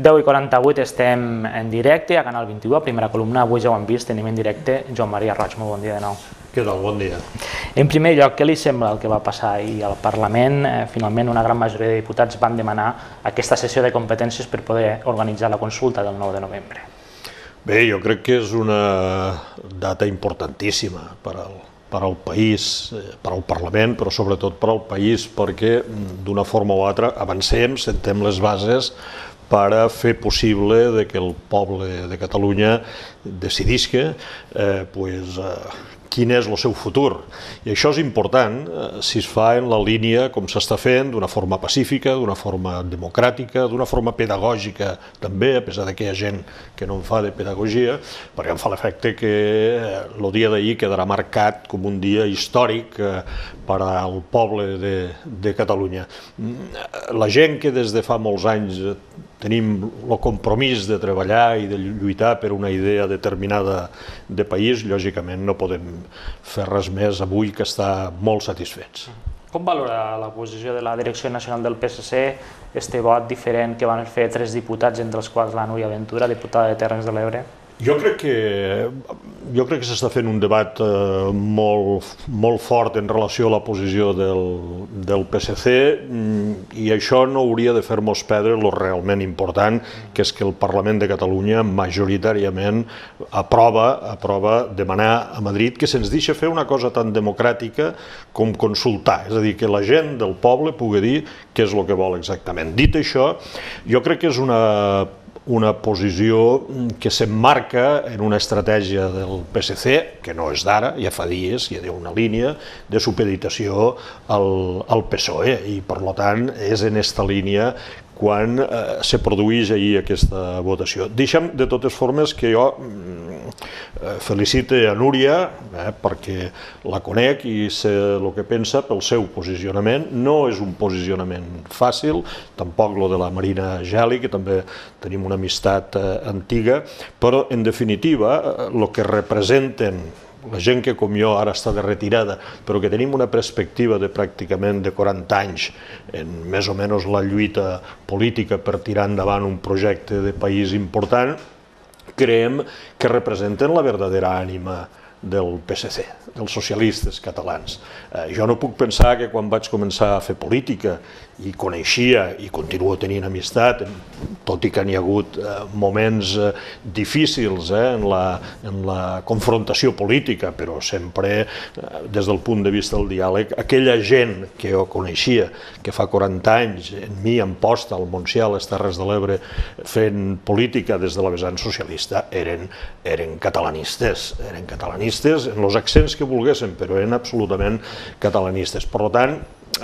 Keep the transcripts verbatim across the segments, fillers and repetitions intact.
deu i quaranta-vuit estem en directe a Canal vint-i-u, a Primera Columna. Avui ja ho hem vist, tenim en directe Joan Maria Roig. Molt bon dia de nou. Què tal? Bon dia. En primer lloc, què li sembla el que va passar ahir al Parlament? Finalment, una gran majoria de diputats van demanar aquesta sessió de competències per poder organitzar la consulta del nou de novembre. Bé, jo crec que és una data importantíssima per al per al país, per al Parlament, però sobretot per al país, perquè d'una forma o altra avancem, sentem les bases per a fer possible que el poble de Catalunya decidisca quin és el seu futur. I això és important si es fa en la línia com s'està fent, d'una forma pacífica, d'una forma democràtica, d'una forma pedagògica també, a pesar que hi ha gent que no en fa de pedagogia, perquè em fa l'efecte que el dia d'ahir quedarà marcat com un dia històric per al poble de Catalunya. La gent que des de fa molts anys tenim el compromís de treballar i de lluitar per una idea determinada de país, lògicament no podem fer res més avui que estar molt satisfets. Com valora la posició de la Direcció Nacional del P S C, este vot diferent que van fer tres diputats, entre els quals la Núria Ventura, diputada de Terres de l'Ebre? Jo crec que jo crec que s'està fent un debat molt molt fort en relació a la posició del P S C i això no hauria de fer-nos perdre el realment important, que és que el Parlament de Catalunya majoritàriament aprova aprova demanar a Madrid que se'ns deixi fer una cosa tan democràtica com consultar, és a dir, que la gent del poble pugui dir què és el que vol exactament. Dit això, jo crec que és una una posició que s'emmarca en una estratègia del P S C, que no és d'ara, ja fa dies, hi ha una línia de supeditació al P S O E i, per tant, és en aquesta línia quan se produeix ahir aquesta votació. Deixa'm, de totes formes, que jo felicite a Núria perquè la conec i sé el que pensa pel seu posicionament. No és un posicionament fàcil, tampoc el de la Marina Geli, que també tenim una amistat antiga, però en definitiva el que representen la gent que com jo ara està de retirada, però que tenim una perspectiva de pràcticament de quaranta anys en més o menys la lluita política per tirar endavant un projecte de país important, creiem que representen la verdadera ànima del P S C, dels socialistes catalans. Jo no puc pensar que quan vaig començar a fer política i coneixia i continuo tenint amistat, tot i que n'hi ha hagut moments difícils en la confrontació política, però sempre des del punt de vista del diàleg, aquella gent que jo coneixia, que fa quaranta anys en mi em posta al Montsià, a les Terres de l'Ebre, fent política des de la vessant socialista, eren catalanistes, eren catalanistes en els accents que volguessin, però eren absolutament catalanistes. Per tant,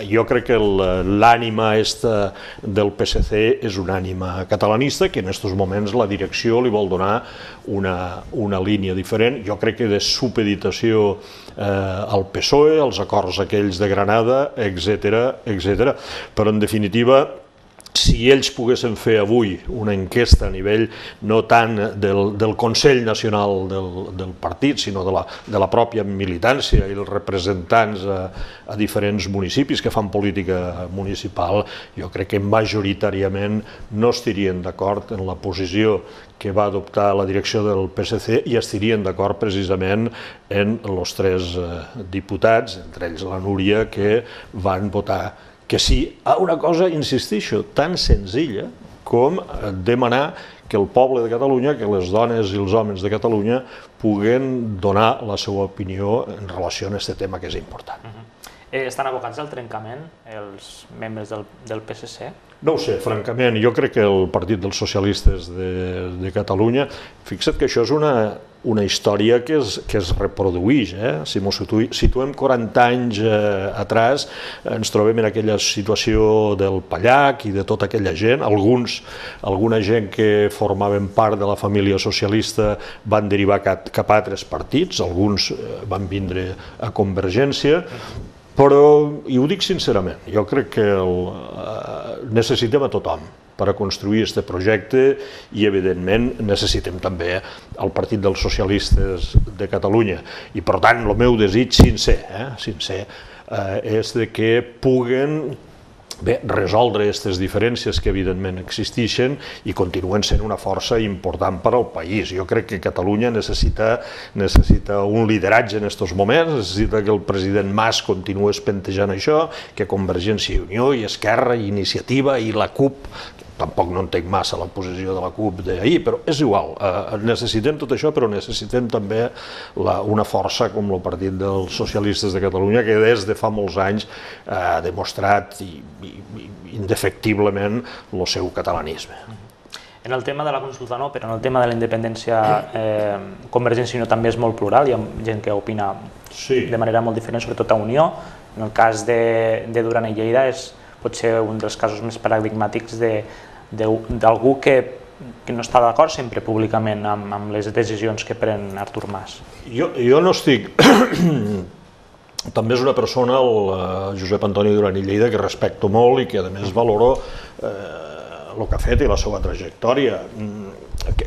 jo crec que l'ànima del P S C és una ànima catalanista, que en aquests moments la direcció li vol donar una línia diferent, jo crec que de supeditació al P S O E, als acords aquells de Granada, etcètera, etcètera. Però en definitiva, si ells poguessin fer avui una enquesta a nivell no tant del Consell Nacional del partit, sinó de la pròpia militància i els representants a diferents municipis que fan política municipal, jo crec que majoritàriament no estarien d'acord en la posició que va adoptar la direcció del P S C i estarien d'acord precisament en els tres diputats, entre ells la Núria, que van votar que sí a una cosa, insisteixo, tan senzilla com demanar que el poble de Catalunya, que les dones i els homes de Catalunya puguen donar la seva opinió en relació a aquest tema que és important. Estan abocats al trencament els membres del P S C? No ho sé, francament. Jo crec que el Partit dels Socialistes de Catalunya, fixa't que això és una història que es reprodueix. Si ens situem quaranta anys atràs, ens trobem en aquella situació del Pallac i de tota aquella gent. Alguna gent que formaven part de la família socialista van derivar cap a altres partits, alguns van vindre a Convergència, però, i ho dic sincerament, jo crec que necessitem a tothom per a construir aquest projecte i, evidentment, necessitem també el Partit dels Socialistes de Catalunya. I, per tant, el meu desig sincer és que puguen bé, resoldre aquestes diferències que evidentment existeixen i continuen sent una força important per al país. Jo crec que Catalunya necessita, necessita un lideratge en aquests moments, necessita que el president Mas continuï espentejant això, que Convergència i Unió i Esquerra i Iniciativa i la CUP, tampoc no entenc massa la posició de la CUP d'ahir, però és igual, eh, necessitem tot això, però necessitem també la, una força com el Partit dels Socialistes de Catalunya, que des de fa molts anys eh, ha demostrat i, i, i indefectiblement el seu catalanisme. En el tema de la consulta no, però en el tema de la independència, eh, Convergència i Unió també és molt plural, hi ha gent que opina sí. de manera molt diferent, sobretot a Unió. En el cas de, de Duran i Lleida és potser un dels casos més paradigmàtics d'algú que, que no està d'acord sempre públicament amb, amb les decisions que pren Artur Mas. Jo, jo no estic... També és una persona, el Josep Antoni Duran i Lleida, que respecto molt i que a més valoro eh, el que ha fet i la seva trajectòria.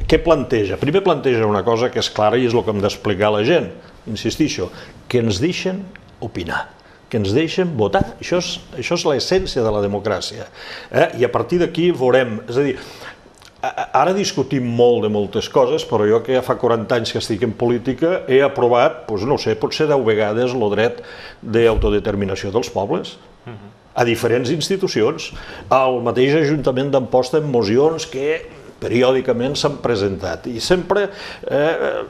Què planteja? Primer planteja una cosa que és clara i és el que hem d'explicar a la gent, insistixo, que ens deixen opinar, que ens deixen votar. Això és, això és l'essència de la democràcia. Eh? I a partir d'aquí veurem... És a dir, ara discutim molt de moltes coses, però jo que ja fa quaranta anys que estic en política he aprovat, doncs no sé, potser deu vegades el dret d'autodeterminació dels pobles a diferents institucions. Al mateix Ajuntament d'Amposta en mocions que periòdicament s'han presentat i sempre... Eh,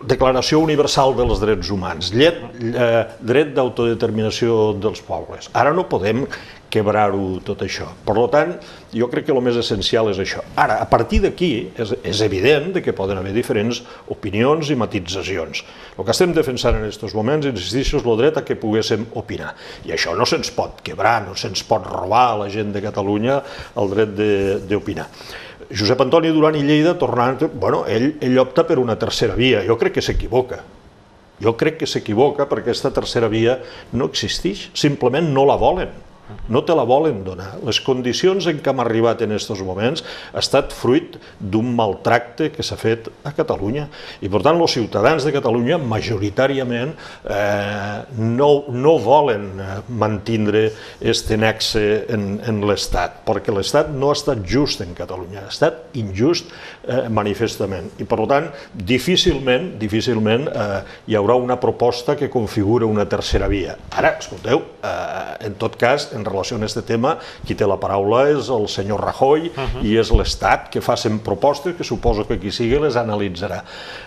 Declaració Universal dels Drets Humans, llet, eh, dret d'autodeterminació dels pobles. Ara no podem quebrar-ho tot això. Per tant, jo crec que el més essencial és això. Ara, a partir d'aquí, és, és evident que poden haver diferents opinions i matitzacions. El que estem defensant en aquests moments, insisteixo, és el dret a que poguéssim opinar. I això no se'ns pot quebrar, no se'ns pot robar a la gent de Catalunya el dret d'opinar. Josep Antoni Duran i Lleida, tornant, bueno, ell, ell opta per una tercera via. Jo crec que s'equivoca. Jo crec que s'equivoca perquè aquesta tercera via no existeix, simplement no la volen. No te la volen donar. Les condicions en què hem arribat en aquests moments ha estat fruit d'un maltracte que s'ha fet a Catalunya. I per tant, els ciutadans de Catalunya majoritàriament eh, no, no volen mantindre aquest nexe en, en l'Estat, perquè l'Estat no ha estat just en Catalunya, ha estat injust eh, manifestament. I per tant, difícilment, difícilment eh, hi haurà una proposta que configura una tercera via. Ara, escolteu, eh, en tot cas, en relació amb aquest tema, qui té la paraula és el senyor Rajoy uh-huh. i és l'Estat que facin propostes que suposo que qui sigui les analitzarà.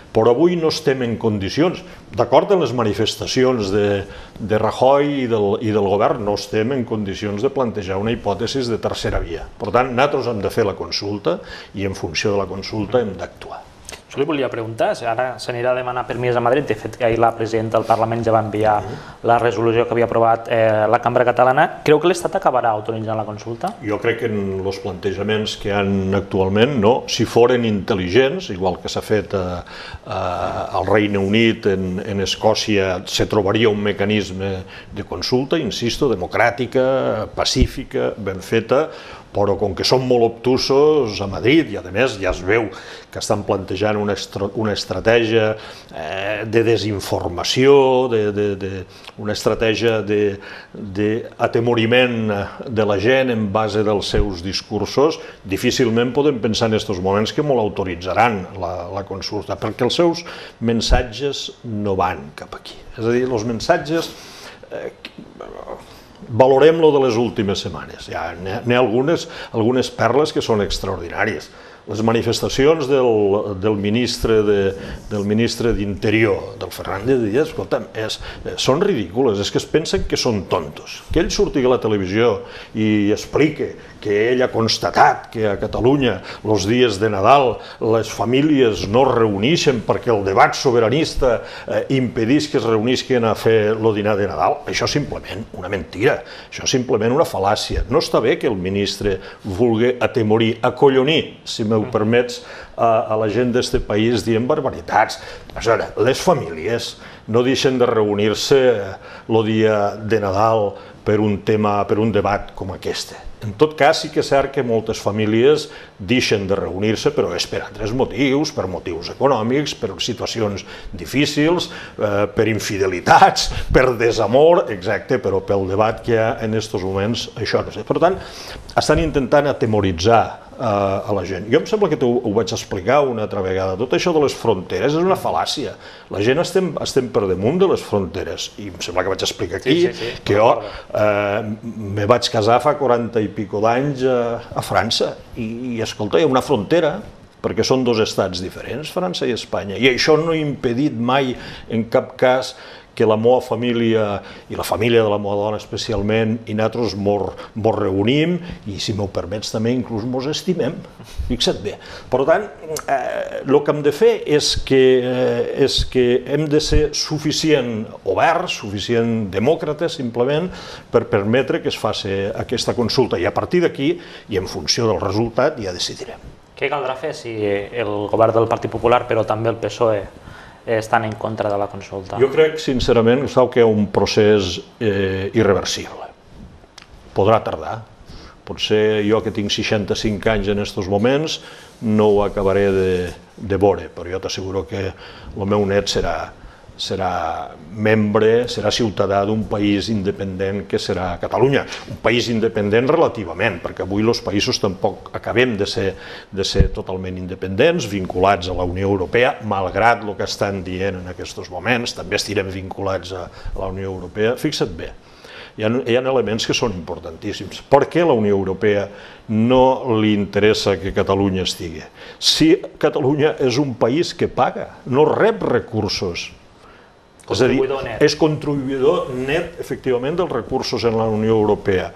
Però avui no estem en condicions, d'acord amb les manifestacions de, de Rajoy i del, i del govern, no estem en condicions de plantejar una hipòtesi de tercera via. Per tant, nosaltres hem de fer la consulta i en funció de la consulta hem d'actuar. Jo li volia preguntar, ara s'anirà a demanar permís a Madrid, de fet que ahir la presidenta del Parlament ja va enviar la resolució que havia aprovat eh, la Cambra Catalana. Creu que l'Estat acabarà autoritzant la consulta? Jo crec que en els plantejaments que hi ha actualment, no. Si foren intel·ligents, igual que s'ha fet a, a, al Regne Unit, en, en Escòcia, se trobaria un mecanisme de consulta, insisto, democràtica, pacífica, ben feta, però com que són molt obtusos a Madrid i a més ja es veu que estan plantejant una, una estratègia eh, de desinformació, de, de, de, una estratègia d'atemoriment de, de la gent en base dels seus discursos, difícilment podem pensar en aquests moments que molt autoritzaran la, la consulta, perquè els seus missatges no van cap aquí. És a dir, els missatges... Eh, valorem-lo de les últimes setmanes. Hi ha, hi ha algunes, algunes perles que són extraordinàries. Les manifestacions del, del ministre de, del ministre d'Interior, del Fernández Díaz, escolta'm, és, són ridícules, és que es pensen que són tontos. Que ell surti a la televisió i explique que ell ha constatat que a Catalunya els dies de Nadal les famílies no es reuneixen perquè el debat sobiranista eh, impedís que es reunisquen a fer el dinar de Nadal, això és simplement una mentira, això és simplement una fal·làcia. No està bé que el ministre vulgui atemorir, acollonir, si m'ho permets, a la gent d'aquest país dient barbaritats. Les famílies no deixen de reunir-se el dia de Nadal per un tema, per un debat com aquest. En tot cas, sí que és cert que moltes famílies deixen de reunir-se, però és per altres motius, per motius econòmics, per situacions difícils, per infidelitats, per desamor, exacte, però pel debat que hi ha en aquests moments, això no sé. Per tant, estan intentant atemoritzar a la gent. Jo em sembla que ho vaig explicar una altra vegada. Tot això de les fronteres és una fal·làcia. La gent estem per damunt de les fronteres. I em sembla que vaig explicar aquí que jo me vaig casar fa quaranta i pico d'anys a França. I, escolta, hi ha una frontera, perquè són dos estats diferents, França i Espanya. I això no ha impedit mai, en cap cas, que la meva família, i la família de la meva dona especialment, i nosaltres mos reunim, i si m'ho permets també inclús mos estimem. Fixa't bé. Per tant, el que hem de fer és que hem de ser suficient oberts, suficient demòcrates, simplement, per permetre que es faci aquesta consulta. I a partir d'aquí, i en funció del resultat, ja decidirem. Què caldrà fer si el govern del Partit Popular, però també el P S O E, estan en contra de la consulta? Jo crec, sincerament, que hi ha un procés irreversible. Podrà tardar. Potser jo, que tinc seixanta-cinc anys en aquests moments, no ho acabaré de veure, però jo t'asseguro que el meu net serà serà membre, serà ciutadà d'un país independent que serà Catalunya. Un país independent relativament, perquè avui els països tampoc acabem de ser totalment independents, vinculats a la Unió Europea, malgrat el que estan dient en aquests moments, també estirem vinculats a la Unió Europea. Fixa't bé, hi ha elements que són importantíssims. Per què a la Unió Europea no li interessa que Catalunya estigui? Si Catalunya és un país que paga, no rep recursos. És a dir, és contribuïdor net, efectivament, dels recursos en la Unió Europea.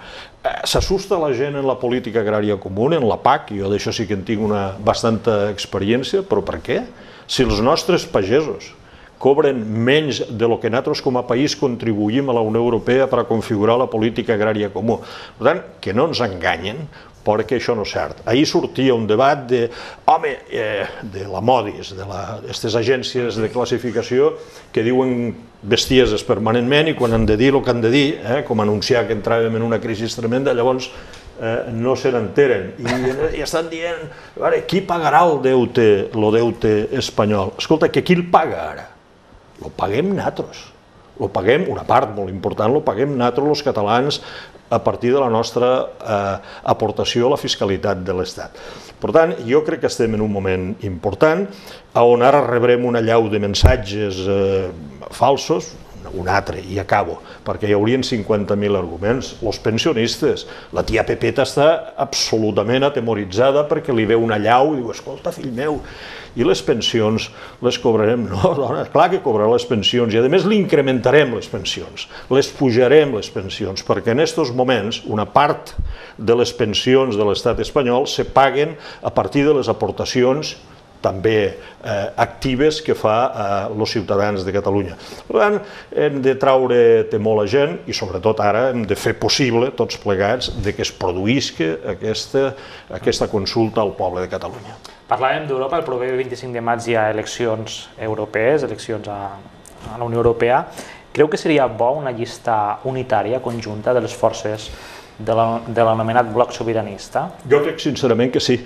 S'assusta la gent en la política agrària comuna, en la P A C, jo d'això sí que en tinc una bastanta experiència, però per què? Si els nostres pagesos cobren menys de lo que nosaltres com a país contribuïm a la Unió Europea per a configurar la política agrària comuna. Per tant, que no ens enganyen, perquè això no és cert. Ahir sortia un debat de, home, de la Modis, d'aquestes agències de classificació que diuen bestieses permanentment i quan han de dir el que han de dir, com anunciar que entràvem en una crisi tremenda, llavors no se n'enteren. I estan dient, qui pagarà el deute espanyol? Escolta, que qui el paga ara? Lo paguem nosaltres. Lo paguem, una part molt important, lo paguem nosaltres, els catalans, a partir de la nostra aportació a la fiscalitat de l'Estat. Per tant, jo crec que estem en un moment important, on ara rebrem una allau de missatges falsos, un altre, i acabo, perquè hi haurien cinquanta mil arguments. Els pensionistes, la tia Pepeta està absolutament atemoritzada perquè li veu una allau i diu, escolta, fill meu, i les pensions les cobrarem? No, dona, clar que cobrarà les pensions i a més li incrementarem les pensions, les pujarem les pensions, perquè en aquests moments una part de les pensions de l'estat espanyol se paguen a partir de les aportacions també actives que fa els ciutadans de Catalunya. Per tant, hem de traure temor a la gent i sobretot ara hem de fer possible, tots plegats, que es produïsca aquesta consulta al poble de Catalunya. Parlàvem d'Europa, el proper vint-i-cinc de maig hi ha eleccions europees, eleccions a la Unió Europea. Creu que seria bo una llista unitària, conjunta, de les forces de l'anomenat bloc sobiranista? Jo crec sincerament que sí.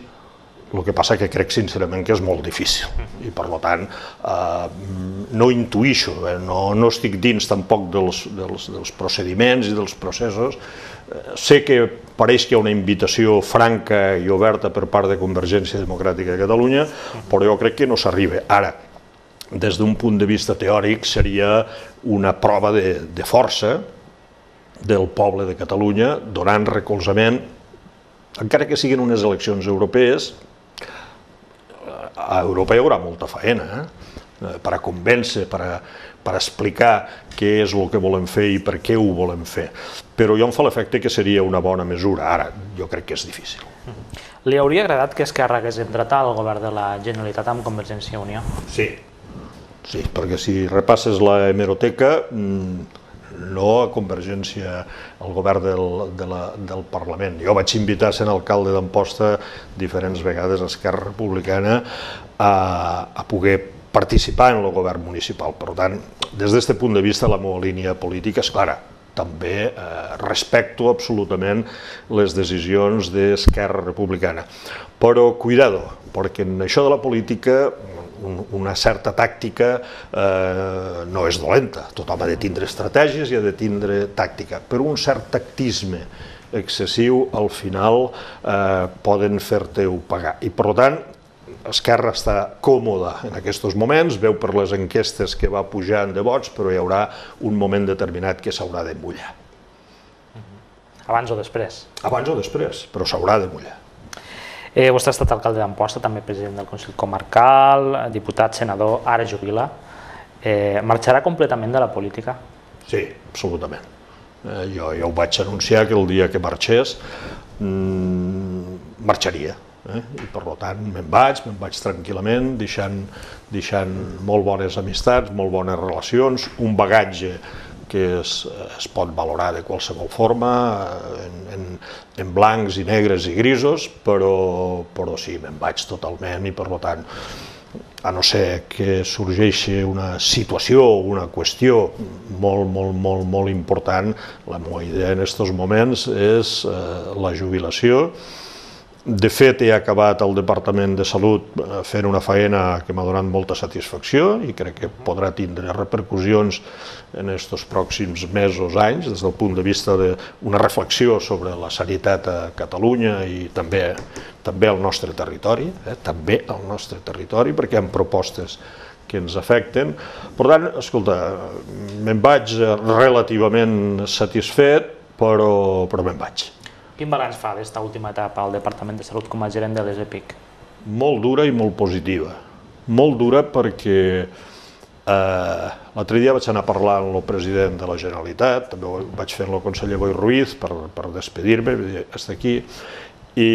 El que passa que crec sincerament que és molt difícil i per tant no intuïxo, no estic dins tampoc dels procediments i dels processos. Sé que pareix que hi ha una invitació franca i oberta per part de Convergència Democràtica de Catalunya, però jo crec que no s'arriba. Ara, des d'un punt de vista teòric seria una prova de força del poble de Catalunya donant recolzament, encara que siguin unes eleccions europees. A Europa hi haurà molta feina per a convèncer, per explicar què és el que volem fer i per què ho volem fer. Però jo em fa l'efecte que seria una bona mesura. Ara, jo crec que és difícil. Li hauria agradat que Esquerra hagués entrat al govern de la Generalitat amb Convergència i Unió? Sí, sí, perquè si repasses la hemeroteca no a Convergència, al govern del Parlament. Jo vaig invitar a ser alcalde d'Amposta diferents vegades a Esquerra Republicana a poder participar en el govern municipal. Per tant, des d'aquest punt de vista, la meva línia política és clara. També respecto absolutament les decisions d'Esquerra Republicana. Però, cuidado, perquè en això de la política una certa tàctica no és dolenta. Tothom ha de tindre estratègies i ha de tindre tàctica. Però un cert tactisme excessiu, al final, poden fer-te-ho pagar. I, per tant, Esquerra està còmoda en aquests moments, veu per les enquestes que va pujant de vots, però hi haurà un moment determinat que s'haurà de mullar. Abans o després? Abans o després, però s'haurà de mullar. Vostè ha estat alcalde d'Amposta, també president del Consell Comarcal, diputat, senador, ara jubila. Marxarà completament de la política? Sí, absolutament. Jo ho vaig anunciar que el dia que marxés marxaria. I per tant me'n vaig, me'n vaig tranquil·lament, deixant molt bones amistats, molt bones relacions, un bagatge que es pot valorar de qualsevol forma, en blancs i negres i grisos, però sí, me'n vaig totalment i per tant, a no ser que sorgeixi una situació o una qüestió molt, molt, molt, molt important, la meva idea en aquests moments és la jubilació. De fet, he acabat al Departament de Salut fent una feina que m'ha donat molta satisfacció i crec que podrà tindre repercussions en aquests pròxims mesos, anys, des del punt de vista d'una reflexió sobre la sanitat a Catalunya i també al nostre territori, també al nostre territori, perquè hi ha propostes que ens afecten. Per tant, escolta, me'n vaig relativament satisfet, però me'n vaig. Quin balanç fa d'esta última etapa al Departament de Salut com a gerent de l'E S P I C? Molt dura i molt positiva. Molt dura perquè l'altre dia vaig anar a parlar amb el president de la Generalitat, també ho vaig fer amb el conseller Boi Ruiz per despedir-me, fins aquí, i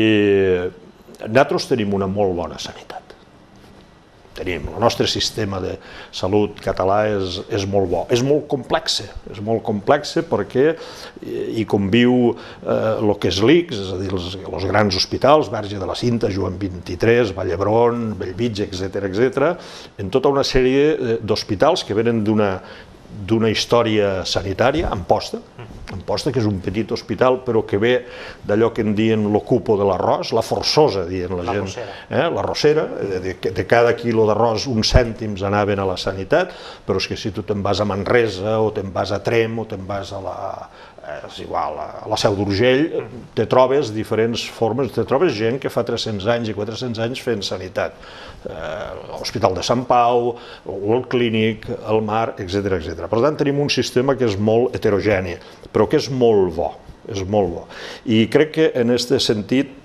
nosaltres tenim una molt bona sanitat. Tenim, el nostre sistema de salut català és molt bo, és molt complex, és molt complex perquè hi conviu el que és l'I C S, és a dir, els grans hospitals, Verge de la Cinta, Joan vint-i-tres, Vall d'Hebron, Bellvitge, etcètera, etcètera, en tota una sèrie d'hospitals que venen d'una d'una història sanitària, Amposta, Amposta, que és un petit hospital, però que ve d'allò que en diuen l'ocupo de l'arròs, la forçosa, dient la gent. La rossera, de cada quilo d'arròs uns cèntims anaven a la sanitat, però és que si tu te'n vas a Manresa, o te'n vas a Trem, o te'n vas a la... és igual, a la Seu d'Urgell, te trobes diferents formes, te trobes gent que fa tres-cents anys i quatre-cents anys fent sanitat. L'Hospital de Sant Pau, el Clínic, el Mar, etcètera, etcètera. Per tant, tenim un sistema que és molt heterogeni, però que és molt bo, és molt bo. I crec que en aquest sentit,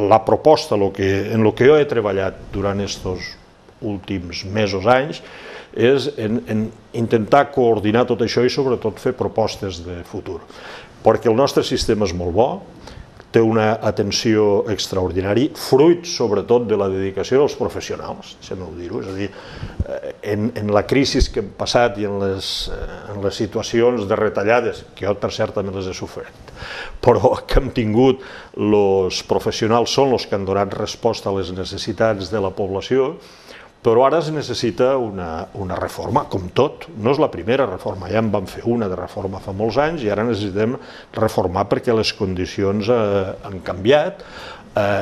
la proposta, en el que jo he treballat durant aquests últims mesos, anys, és intentar coordinar tot això i sobretot fer propostes de futur. Perquè el nostre sistema és molt bo, té una atenció extraordinària, fruit sobretot de la dedicació dels professionals, deixem-ho dir-ho, és a dir, en la crisi que hem passat i en les situacions de retallades, que jo per cert també les he sofert, però que hem tingut, els professionals són els que han donat resposta a les necessitats de la població, però ara es necessita una reforma, com tot. No és la primera reforma, ja en vam fer una de reforma fa molts anys i ara necessitem reformar perquè les condicions han canviat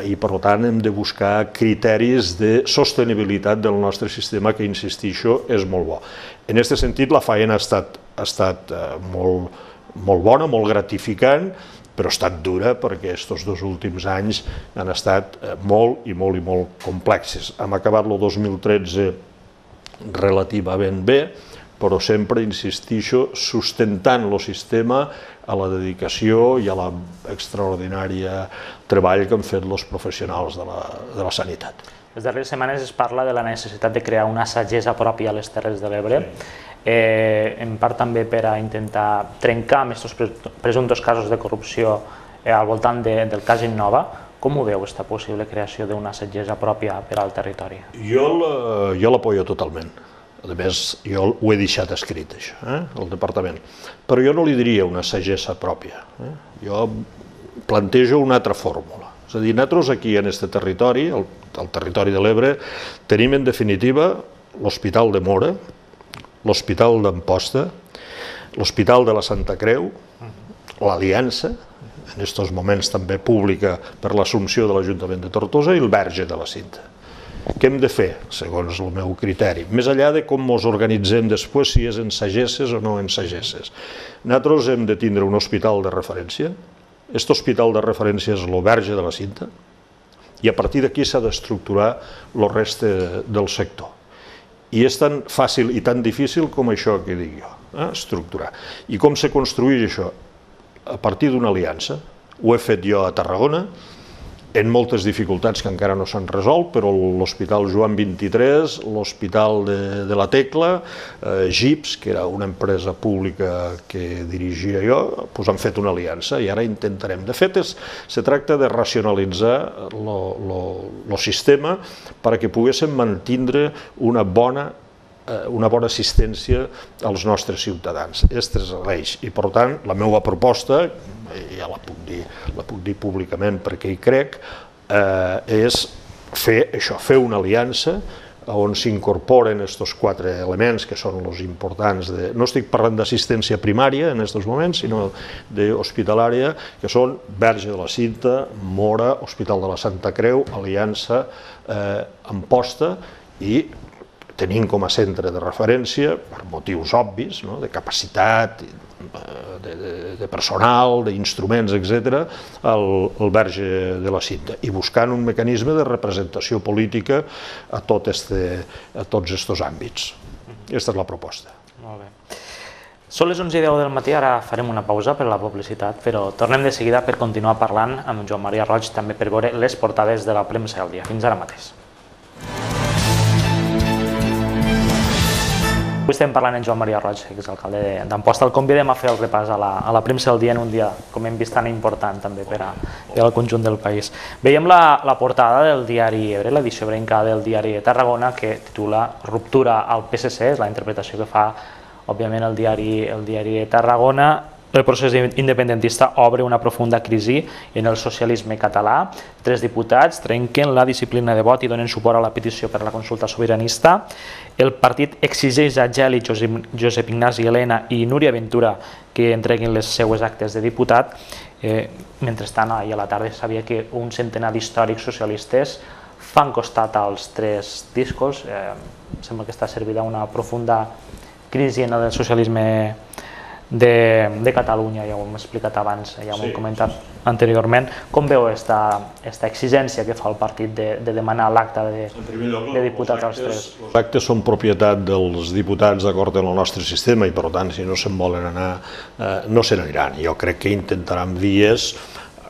i per tant hem de buscar criteris de sostenibilitat del nostre sistema que, insistixo, és molt bo. En aquest sentit la feina ha estat molt bona, molt gratificant, però ha estat dura perquè aquests dos últims anys han estat molt i molt i molt complexes. Hem acabat el dos mil tretze relativament bé, però sempre, insistixo, sustentant el sistema a la dedicació i a l'extraordinària treball que han fet els professionals de la sanitat. Les darreres setmanes es parla de la necessitat de crear una sagessa pròpia a les Terres de l'Ebre, en part també per a intentar trencar amb aquests presumptes casos de corrupció al voltant del cas Innova. Com ho veu, aquesta possible creació d'una sagessa pròpia per al territori? Jo l'apoyo totalment. A més, jo ho he deixat escrit, això, el departament. Però jo no li diria una sagessa pròpia. Jo plantejo una altra fórmula. És a dir, nosaltres aquí en aquest territori, el territori de l'Ebre, tenim en definitiva l'Hospital de Móra, l'Hospital d'Amposta, l'Hospital de la Santa Creu, l'Aliança, en aquests moments també pública per l'assumpció de l'Ajuntament de Tortosa, i el Verge de la Cinta. Què hem de fer, segons el meu criteri? Més enllà de com ens organitzem després, si és en sagesses o no en sagesses. Nosaltres hem de tindre un hospital de referència. Aquest hospital de referència és el Verge de la Cinta, i a partir d'aquí s'ha d'estructurar el reste del sector. I és tan fàcil i tan difícil com això que dic jo, estructurar. I com se construeix això? A partir d'una aliança. Ho he fet jo a Tarragona, en moltes dificultats que encara no s'han resolt, però l'Hospital Joan vint-i-tres, l'Hospital de la Tecla, Gips, que era una empresa pública que dirigia jo, han fet una aliança i ara intentarem. De fet, se tracta de racionalitzar el sistema perquè poguéssim mantenir una bona una bona assistència als nostres ciutadans. Aquest és l'eix. I, per tant, la meva proposta, ja la puc dir, la puc dir públicament perquè hi crec, és fer això, fer una aliança on s'incorporen aquests quatre elements que són els importants. No estic parlant d'assistència primària en aquests moments, sinó d'hospitalària, que són Verge de la Cinta, Móra, Hospital de la Santa Creu, Aliança, Amposta, i tenim com a centre de referència, per motius obvis, de capacitat, de personal, d'instruments, etcètera, el Verge de la Cinta, i buscant un mecanisme de representació política a tots aquests àmbits. Aquesta és la proposta. Molt bé. Són les onze i deu del matí, ara farem una pausa per la publicitat, però tornem de seguida per continuar parlant amb Joan Maria Roig, també per veure les portades de la premsa del dia. Fins ara mateix. Avui estem parlant amb Joan Maria Roig, exalcalde d'Amposta. El convidem a fer el repàs a la premsa del dia en un dia, com hem vist, tan important també per al conjunt del país. Veiem la portada del diari Ebre, l'edició ebrenca del diari de Tarragona, que titula Ruptura al P S C, és la interpretació que fa, òbviament, el diari de Tarragona. El procés independentista obre una profunda crisi en el socialisme català. Tres diputats trenquen la disciplina de vot i donen suport a la petició per a la consulta sobiranista. El partit exigeix a Geli, Josep Ignasi Elena i Núria Ventura que entreguin les seues actes de diputat. Mentrestant, ahir a la tarda sabia que un centenar d'històrics socialistes fan costat als tres discos. Sembla que està servida una profunda crisi en el socialisme de Catalunya, ja ho hem explicat abans, ja ho hem comentat anteriorment. Com veu aquesta exigència que fa el partit de demanar l'acte de diputats als tres? Els actes són propietat dels diputats d'acord amb el nostre sistema i, per tant, si no se'n volen anar, no se n'aniran. Jo crec que intentaran vies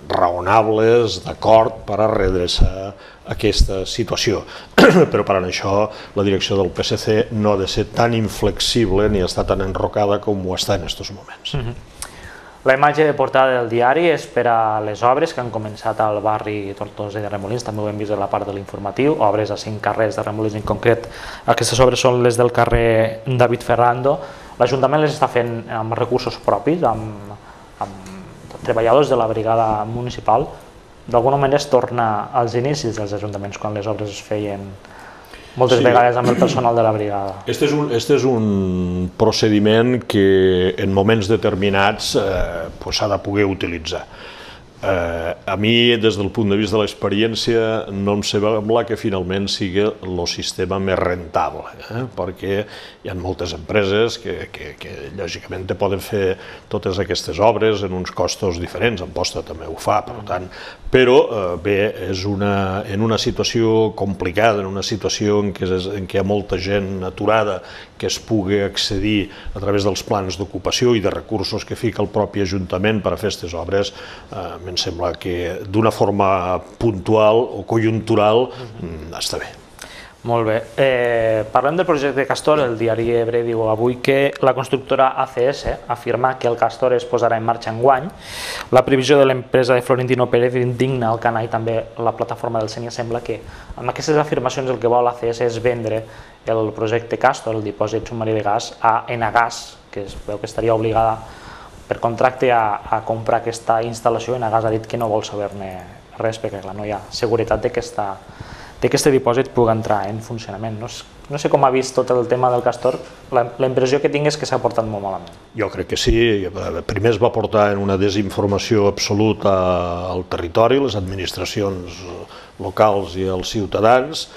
raonables, d'acord, per a redreçar aquesta situació. Però per això la direcció del P S C no ha de ser tan inflexible ni està tan enrocada com ho està en aquests moments. La imatge de portada del diari és per a les obres que han començat al barri Tortosa de Remolins, també ho hem vist a la part de l'informatiu, obres a cinc carrers de Remolins en concret. Aquestes obres són les del carrer David Ferrando. L'Ajuntament les està fent amb recursos propis, amb treballadors de la brigada municipal. D'alguna manera es torna als inicis dels ajuntaments, quan les obres es feien moltes vegades amb el personal de la brigada. Este és un procediment que en moments determinats s'ha de poder utilitzar. A mi, des del punt de vista de l'experiència, no em sembla que finalment sigui el sistema més rentable, perquè hi ha moltes empreses que lògicament poden fer totes aquestes obres en uns costos diferents, Amposta també ho fa, per tant, però bé, és en una situació complicada, en una situació en què hi ha molta gent aturada que es pugui accedir a través dels plans d'ocupació i de recursos que fica el propi Ajuntament per a fer aquestes obres, em sembla que d'una forma puntual o conjuntural està bé. Molt bé. Eh, parlem del projecte Castor. El diari Ebre diu avui que la constructora A C S afirma que el Castor es posarà en marxa enguany. La previsió de l'empresa de Florentino Pérez indigna el canal i també la plataforma del Sénia. Sembla que amb aquestes afirmacions el que vol A C S és vendre el projecte Castor, el dipòsit submarí de gas, a Enagás, que es veu que estaria obligada per contracte a, a comprar aquesta instal·lació. Enagás ha dit que no vol saber-ne res perquè no hi ha seguretat de que aquesta que aquest dipòsit pugui entrar en funcionament. No, no sé com ha vist tot el tema del Castor, la, la impressió que tinc és que s'ha portat molt malament. Jo crec que sí. Primer es va portar en una desinformació absoluta al territori, les administracions locals i els ciutadans.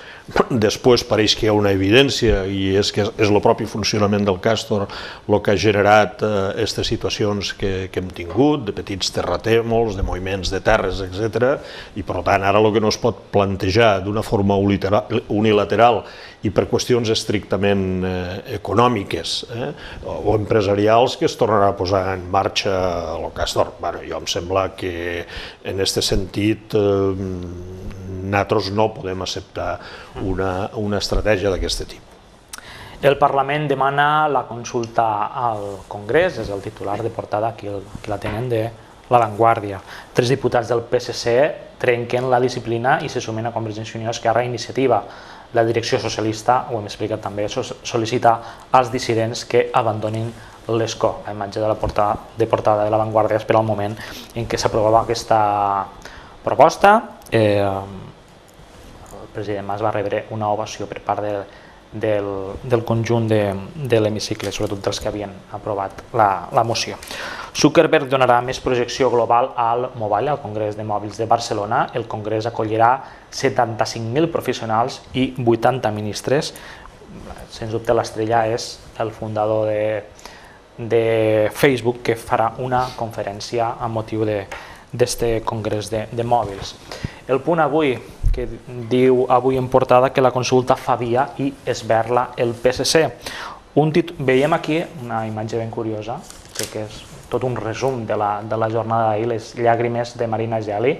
Després pareix que hi ha una evidència i és que és el propi funcionament del Castor el que ha generat aquestes situacions que, que hem tingut, de petits terratrèmols, de moviments de terres, etcètera. I per tant ara el que no es pot plantejar d'una forma unilateral i per qüestions estrictament econòmiques o empresarials que es tornarà a posar en marxa el Castor. Jo em sembla que en aquest sentit nosaltres no podem acceptar una, una estratègia d'aquest tipus. El Parlament demana la consulta al Congrés, és el titular de portada, aquí, aquí la tenen, de La Vanguardia. Tres diputats del P S C trenquen la disciplina i se sumen a Convergència i Unió, Esquerra i Iniciativa. La direcció socialista, ho hem explicat també, sol·licita als dissidents que abandonin l'escó. La imatge de la portada de, portada de La Vanguardia és per al moment en què s'aprovava aquesta proposta. Eh, el president Mas va rebre una ovació per part de, del, del conjunt de, de l'hemicicle, sobretot dels que havien aprovat la, la moció. Zuckerberg donarà més projecció global al Mobile, al Congrés de Mòbils de Barcelona. El Congrés acollirà setanta-cinc mil professionals i vuitanta ministres. Sens dubte l'estrella és el fundador de, de Facebook, que farà una conferència amb motiu d'aquest congrés de, de mòbils. El Punt avui, que diu avui en portada que la consulta fa via i esberla el P S C. Un Veiem aquí una imatge ben curiosa, que és tot un resum de la, de la jornada d'ahir, les llàgrimes de Marina Geli.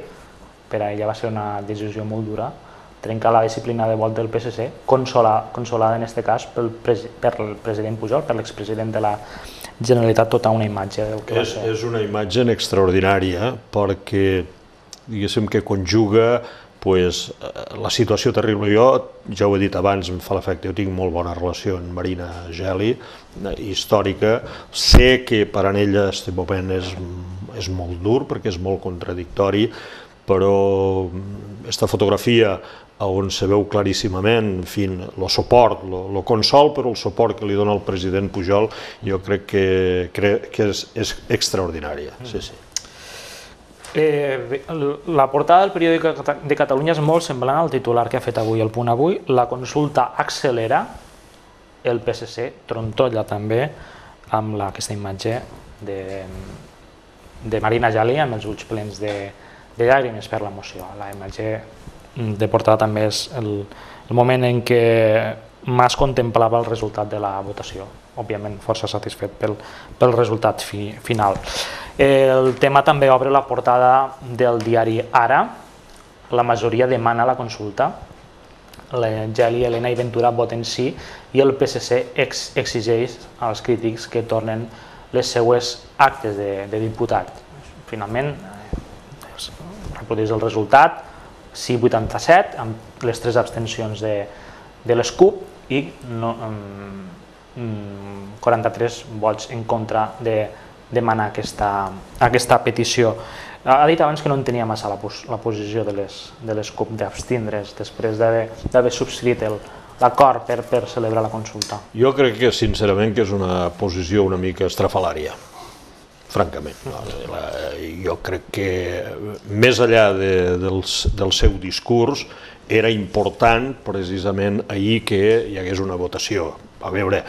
Per a ella va ser una decisió molt dura, trencar la disciplina de vot del P S C, consola, consolada en aquest cas pel, per el president Pujol, per l'expresident de la Generalitat, tota una imatge del que va ser. És una imatge extraordinària perquè diguéssim que conjuga pues, la situació terrible. Jo, ja ho he dit abans, em fa l'efecte, jo tinc molt bona relació amb Marina Geli, històrica. Sé que per a ella aquest moment és, és molt dur perquè és molt contradictori, però aquesta fotografia on se veu claríssimament, en fi, el suport, el consol per el suport que li dona el president Pujol, jo crec que, crec que és, és extraordinària. Sí, sí. Eh, la portada del periòdic de Catalunya és molt semblant al titular que ha fet avui el Punt avui. La consulta accelera, el P S C trontolla també amb la, aquesta imatge de, de Marina Geli amb els ulls plens de, de llàgrimes per la moció. La imatge de portada també és el, el moment en què Mas contemplava el resultat de la votació, òbviament força satisfet pel, pel resultat fi, final. El tema també obre la portada del diari Ara. La majoria demana la consulta. La Geli, Elena i Ventura voten sí i el P S C ex exigeix als crítics que tornen les seues actes de, de diputat. Finalment, reprodueix el resultat, sí vuitanta-set, amb les tres abstencions de, de les CUP i no, um, quaranta-tres vots en contra de demanar aquesta, aquesta petició. Ha dit abans que no entenia massa la, la posició de les, de les CUP d'abstindre's després d'haver subscrit l'acord per, per celebrar la consulta. Jo crec que sincerament que és una posició una mica estrafalària, francament. Jo crec que més enllà de, del, del seu discurs era important precisament ahir que hi hagués una votació. A veure,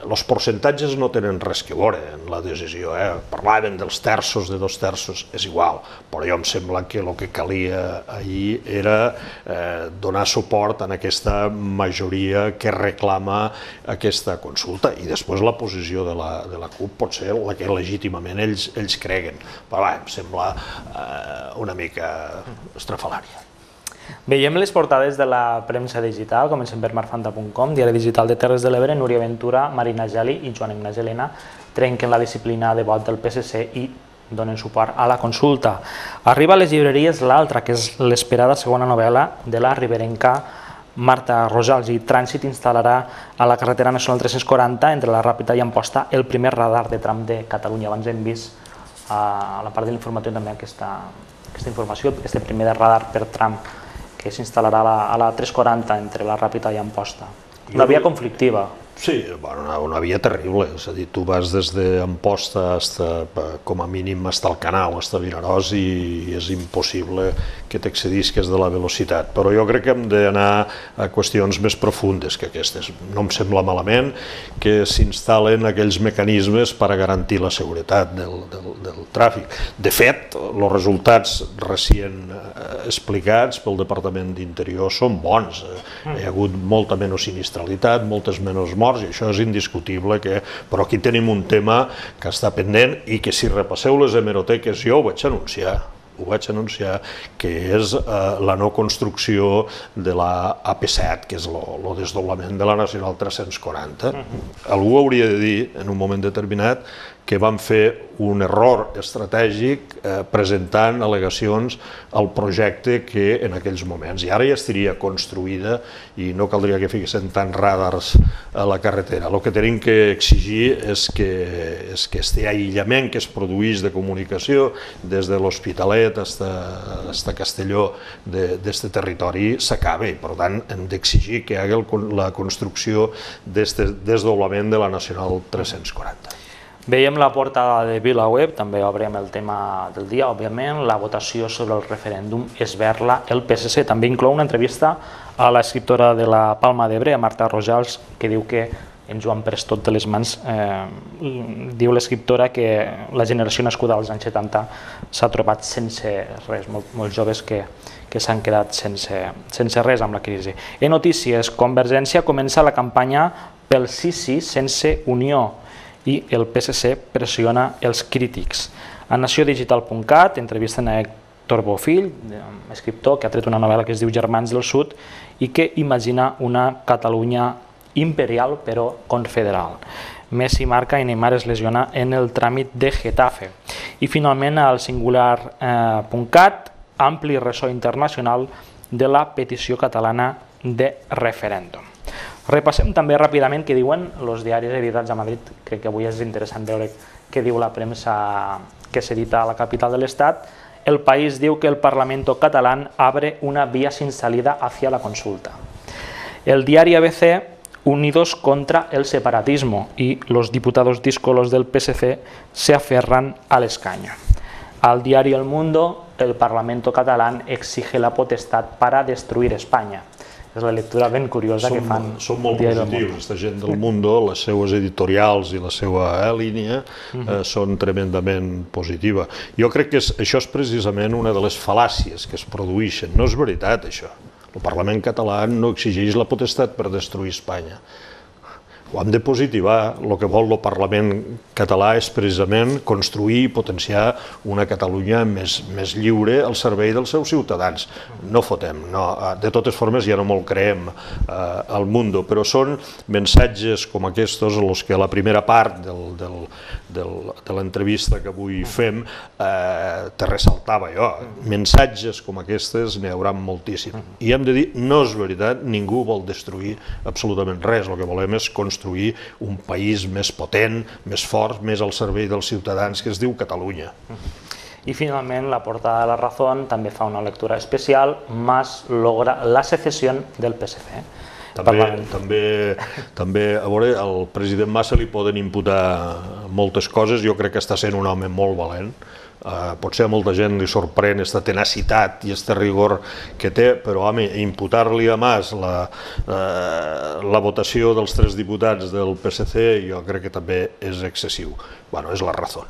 els percentatges no tenen res que veure en la decisió, eh? Parlaven dels terços, de dos terços, és igual, però jo em sembla que el que calia ahir era eh, donar suport a aquesta majoria que reclama aquesta consulta i després la posició de la, de la CUP pot ser la que legítimament ells, ells creguen, però va, em sembla eh, una mica estrafalària. Veiem les portades de la premsa digital, comencem per marfanta punt com, diari digital de Terres de l'Ebre, Núria Ventura, Marina Geli i Joan Ignasi Elena trenquen la disciplina de vot del P S C i donen suport a la consulta. Arriba a les llibreries l'altra, que és l'esperada segona novel·la de la riberenca Marta Rosals, i Trànsit instal·larà a la carretera nacional tres-cents quaranta entre la Ràpita i Amposta el primer radar de tram de Catalunya. Abans hem vist a la part de l'informatiu també aquesta, aquesta informació, aquest primer radar per tram que s'instal·larà a la tres quaranta entre la Ràpita i Amposta. Una via conflictiva. Sí, bueno, una via terrible, és a dir, tu vas des d'Amposta com a mínim fins al Canal, fins a Vinaròs, i és impossible que t'excedisques de la velocitat. Però jo crec que hem d'anar a qüestions més profundes que aquestes. No em sembla malament que s'instal·len aquells mecanismes per a garantir la seguretat del, del, del tràfic. De fet, els resultats recient explicats pel Departament d'Interior són bons. Hi ha hagut molta menys sinistralitat, moltes menys morts, i això és indiscutible, que... però aquí tenim un tema que està pendent i que si repasseu les hemeroteques, jo ho vaig anunciar, ho vaig anunciar, que és eh, la no construcció de la A P set, que és el desdoblament de la Nacional tres-cents quaranta. Algú hauria de dir, en un moment determinat, que van fer un error estratègic eh, presentant al·legacions al projecte que en aquells moments, i ara ja estaria construïda i no caldria que fiquessin tants radars a la carretera. El que tenim que exigir és que, és que este aïllament que es produeix de comunicació des de l'Hospitalet fins a Castelló d'aquest territori s'acabi. Per tant, hem d'exigir que hi hagi la construcció d'aquest desdoblament de la Nacional tres-cents quaranta. Veiem la portada de VilaWeb, també obrem el tema del dia, òbviament, la votació sobre el referèndum esberla el P S C. També inclou una entrevista a l'escriptora de la Palma d'Ebre, a Marta Rosals, que diu que ens ho han pres tot de les mans. Diu l'escriptora que la generació nascuda als anys setanta s'ha trobat sense res, molts joves que s'han quedat sense res amb la crisi. En notícies, Convergència comença la campanya pel sí sí sense unió, i el P S C pressiona els crítics. A nació digital punt cat entrevisten a Héctor Bofill, escriptor que ha tret una novel·la que es diu Germans del Sud i que imagina una Catalunya imperial però confederal. Messi marca i Neymar es lesiona en el tràmit de Getafe. I finalment al singular punt cat, ampli ressò internacional de la petició catalana de referèndum. Repassem també ràpidament què diuen els diaris editats a Madrid. Crec que avui és interessant veure què diu la premsa que s'edita a la capital de l'Estat. El País diu que el Parlamento catalán abre una vía sin salida hacia la consulta. El diari A B C, unidos contra el separatismo, y los diputados díscolos del P S C se aferran al escaño. Al diario El Mundo, el Parlamento catalán exige la potestad para destruir España. És la lectura ben curiosa que fan. Són molt positius, aquesta gent del Mundo, les seues editorials i la seva línia són tremendament positiva. Jo crec que això és precisament una de les fal·làcies que es produeixen. No és veritat, això. El Parlament català no exigeix la potestat per destruir Espanya. Ho hem de positivar. El que vol el Parlament català és precisament construir i potenciar una Catalunya més lliure al servei dels seus ciutadans. No fotem, de totes formes ja no me'l creem al Mundo, però són missatges com aquests els que a la primera part de l'entrevista que avui fem te ressaltava jo. Missatges com aquests n'hi haurà moltíssim. I hem de dir, no és veritat, ningú vol destruir absolutament res. El que volem és construir un país més potent, més fort, més al servei dels ciutadans, que es diu Catalunya. I finalment, la portada de La Razón també fa una lectura especial. Mas logra la secessió del P S C. També, a veure, al president Mas se li poden imputar moltes coses. Jo crec que està sent un home molt valent. Potser a molta gent li sorprèn aquesta tenacitat i aquest rigor que té, però home, imputar-li a Mas la votació dels tres diputats del P S C jo crec que també és excessiu. Bueno, és La Razón.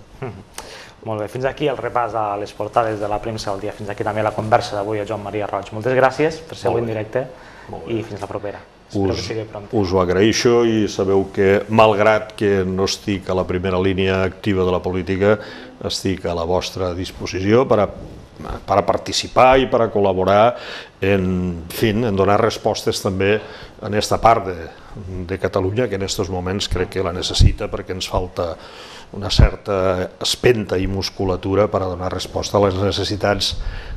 Molt bé, fins aquí el repàs a les portades de la premsa del dia. Fins aquí també la conversa d'avui a Joan Maria Roig. Moltes gràcies per ser avui en directe i fins la propera. Us ho agraeixo i sabeu que, malgrat que no estic a la primera línia activa de la política, estic a la vostra disposició per a per a participar i per a col·laborar en, en, fi, en donar respostes també en aquesta part de, de Catalunya que en aquests moments crec que la necessita perquè ens falta una certa espenta i musculatura per a donar resposta a les necessitats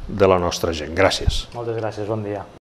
de la nostra gent. Gràcies. Moltes gràcies, bon dia.